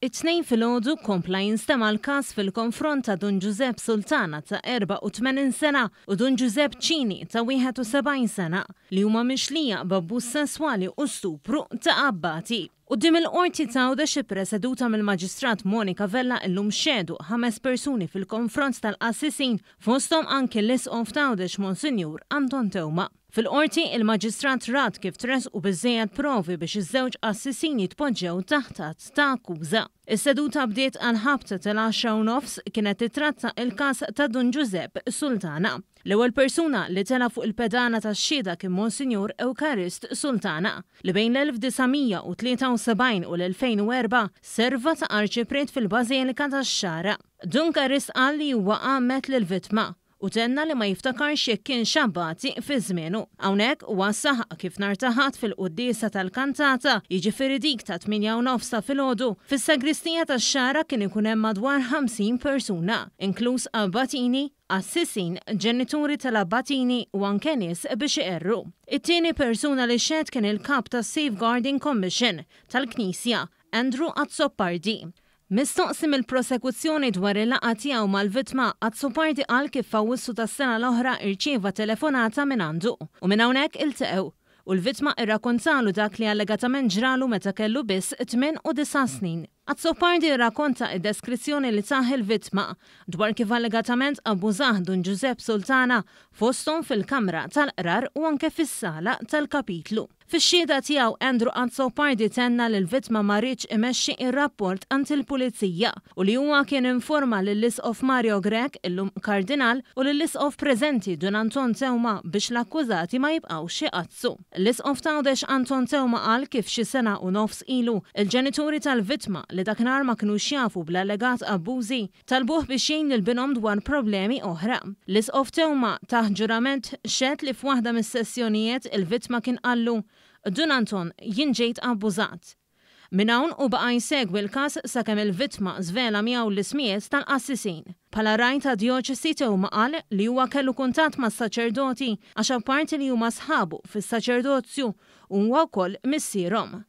It-Tnejn filgħodu kompla jinstema' l-każ fil-konfront ta' Dun Ġużepp Sultana ta' 84 sena u Dun Ġużepp Cini ta' 71 sena, li huma mixlija b'abbuż sesswali u stupru ta' abbati. Quddiem il-Qorti t'Għawdex ippreseduta mill-Maġistrat Monica Vella illum xehdu ħames persuni fil-konfront tal-qassisin fosthom anki l-Isqof t'Għawdex Monsinjur Anton Teuma. Fil-Qorti, il-Maġistrat rat kif tressqu biżżejjed provi biex iż-żewġ qassisin jitpoġġew taħt att ta' akkuża. Is-seduta bdiet għall-ħabta tal-għaxra u nofs kienet titratta il-każ ta' Dun Ġużepp Sultana. L-ewwel persuna li tela' fuq il-pedana tax-xhieda kien Monsinjur Ewkarist Sultana, li bejn l-1973 u l-2004 serva ta' Arċipriet fil-Bażilika tax-Xagħra. Dun Karist qal li huwa għammed lill-vittma u tenna li ma jiftakarx jekk kienx abbati fi żmienu. Hawnhekk huwa saħaq kif nhar ta' Ħadd fil-quddiesa tal-kantata, jiġifieri dik tat-tmienja u nofs ta' filgħodu, fis-sagristija tax-Xagħra kien ikun hemm madwar 50 persuna, inkluż abbatini, qassisin, ġenituri tal-abbatini u anke nies biex iqerru. It-tieni persuna li xehed kien il-Kap tas-Safeguarding Commission tal-Knisja, Andrew Azzopardi. Mistoqsi mill-prosekuzzjoni dwar il-laqgħa tiegħu mal-vittma, Azzopardi qal kif f'Awwissu tas-sena l-oħra rċieva telefonata mingħandu u minn hawnhekk ilteqgħu u l-vittma rrakontalu dak li allegatament ġralu meta kellu biss 8 u 9 snin. Azzopardi rrakonta id-deskrizzjoni li tah il-vittma dwar kif allegatament abbużah Dun Ġużepp Sultana fosthom fil-kamra tal-qrar u anke fis-sala tal-kapitlu. Fix-xhieda tiegħu Andrew Azzopardi tenna li l-vittma ma riedx imexxi ir-rapport għand il-pulizija u li huwa kien informa lill-Isqof Mario Grech, illum Kardinal, u lill-Isqof preżenti Dun Anton Teuma biex l-akkużati ma jibqgħux iqaddsu. L-Isqof t'Għawdex Anton Teuma qal kif xi sena u nofs ilu il-ġenituri tal-vittma li dakinhar ma kinux jafu bl-allegat abbużi talbuh biex jgħin lil binhom dwar problemi oħra. L-Isqof Teuma taħt ġurament xehed li f'waħda mis-sessjonijiet il-vittma kien qallu, "Dun Anton, jien ġejt abbużat." Minn hawn u baqa' jsegwi l-każ sakemm il-vittma żvela miegħu l-ismijiet tal-qassisin. Bħala ragħaj ta' djoċesi Teuma qal li huwa kellu kuntatt mas-saċerdoti għax apparti li huma sħabu fis-saċerdozju huwa wkoll missierhom.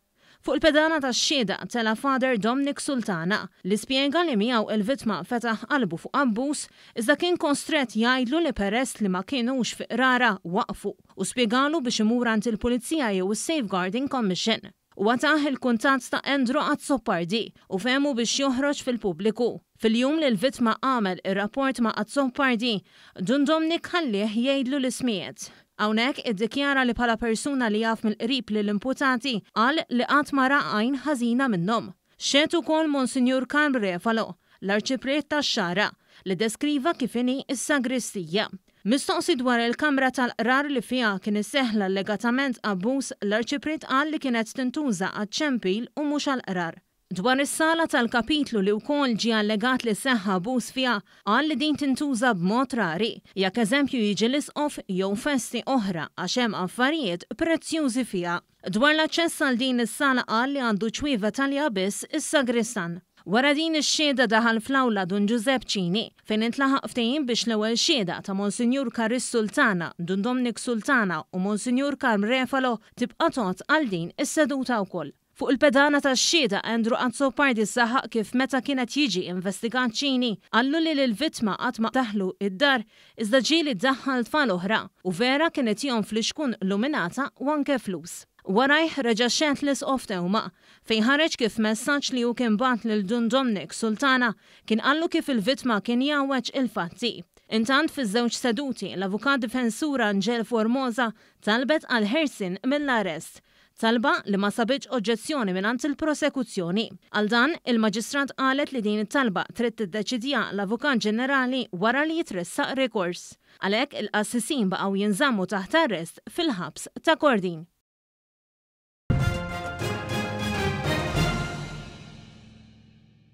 Fuq il-pedana tax-xhieda tela' Father Dominic Sultana li spjega li miegħu il-vittma fetaħ qalbu fuq abbuż iżda kien kostrett jgħidlu li peress li ma kienux fi qrara waqfu u spjegalu biex imur għand il-Pulizija jew is-Safeguarding Commission. Huwa tah il-kuntatt ta' Andrew Azzopardi u fehmu biex joħroġ fil-pubbliku. Fil-jum li l-vittma għamel ir-rapport ma' Azzopardi, Dun Dominic ħallih jgħidlu l-ismijiet. Hawnhekk iddikjara li bħala persuna li jaf mill-qrib lill-imputati qal li qatt ma ra għajn ħażina minnhom. Xehed ukoll Monsinjur Karl Refalo, l-Arċipriet tax-Xagħra, li deskriva kif inhi s-sagristija. Mistoqsi dwar il-kamra tal-qrar li fiha kien iseħħ l-allegatament abbuż, l-Arċipriet qal li kienet tintuża għaċ-ċempil u mhux għall-qrar. Dwar is-sala tal-kapitlu li wkoll ġie allegat li seħħ abbuż fiha, qal li din tintuża b'mod rari, jekk eżempju jiġi l-isqof jew festi oħra għax hemm affarijiet prezzjużi fiha. Dwar l-aċċess għal din is-sala qal li għandu ċwievet għaliha biss is-sagristan. Wara din ix-xhieda daħal fl-awla Dun Ġużepp Cini, fejn intlaħaq ftehim biex l-ewwel xhieda ta' Monsinjur Karis Sultana, Dun Dominic Sultana u Monsinjur Karm Refalo tibqa' tgħodd għal din is-seduta wkoll. Fuq il-pedana tax-xhieda Andrew Azzopardi saħaq kif meta kien qed jiġi investigat Cini qallu li lill-vittma qatt ma daħlu id-dar iżda ġieli daħħal tfal oħra u vera kien itihom flixkun luminata u anke flus. Warajh reġa' xehed l-Isqof Teuma fejn ħareġ kif messaġġ li hu kien bagħat lil Dun Dominic Sultana kien qallu kif il-vittma kien jgħawweġ il-fatti. Intant fiż-żewġ seduti l-avukat difensur Angel Formosa talbet għal ħelsien mill-arrest. Talba li ma sabitx oġġezzjoni mingħand il-prosekuzzjoni. Għal dan, il-Maġistrat qalet li din it-talba trid tiddeċidiha l-Avukat Ġenerali wara li jitressaq rikors. Għalhekk il-qassisin baqgħu jinżammu taħt arrest fil-ħabs ta' Kordin.